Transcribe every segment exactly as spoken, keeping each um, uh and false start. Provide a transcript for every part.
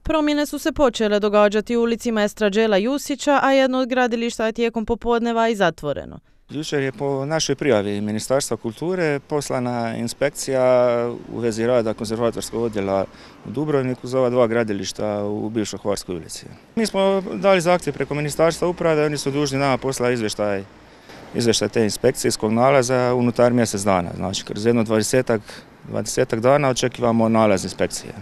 Promjene su se počele događati u ulici Maestra Đela Jusića, a jedno od gradilišta je tijekom popodneva i zatvoreno. Jučer je po našoj prijavi Ministarstva kulture poslana inspekcija u vezi rada konzervatorskog odjela u Dubrovniku za ova dva gradilišta u bivšoj Hvarskoj ulici. Mi smo dali zahtjev preko Ministarstva uprave, oni su dužni nama poslati izvještaj, izvještaj te inspekcijskog nalaza unutar mjesec dana. Znači, kroz jedno dvadesetak, dvadesetak dana očekivamo nalaz inspekcije.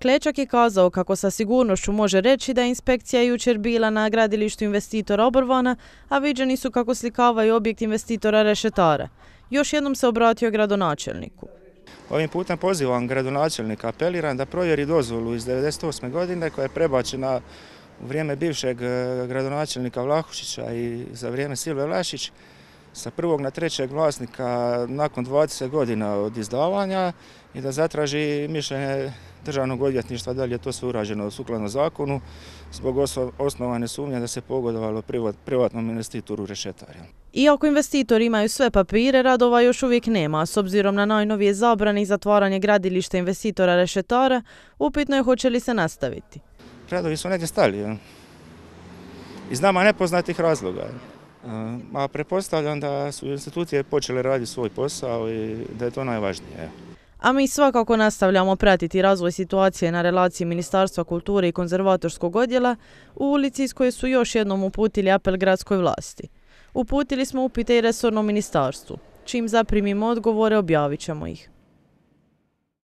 Klečak je kazao kako sa sigurnošću može reći da je inspekcija jučer bila na gradilištu investitora Oborvana, a viđeni su kako slikavaju objekt investitora Rešetara. Još jednom se obratio gradonačelniku. Ovim putem pozivam gradonačelnika, apeliram da provjeri dozvolu iz devedeset osme godine koja je prebačena u vrijeme bivšeg gradonačelnika Vlahušića i za vrijeme Silve Vlašić sa prvog na trećeg vlasnika nakon dvadeset godina od izdavanja i da zatraži mišljenje Državnog odvjetništva da li je to sve urađeno sukladno zakonu zbog osnovane sumnje da se pogodovalo privatnom investitoru Rešetar. Iako investitori imaju sve papire, radova još uvijek nema. S obzirom na najnovije zabrane i zatvaranje gradilišta investitora Rešetara, upitno je hoće li se nastaviti. Radovi su negdje stali iz nama nepoznatih razloga. A pretpostavljam da su institucije počele raditi svoj posao i da je to najvažnije. A mi svakako nastavljamo pratiti razvoj situacije na relaciji Ministarstva kulture i konzervatorskog odjela u ulici iz koje su još jednom uputili apel gradskoj vlasti. Uputili smo upite i resornom ministarstvu. Čim zaprimimo odgovore, objavit ćemo ih.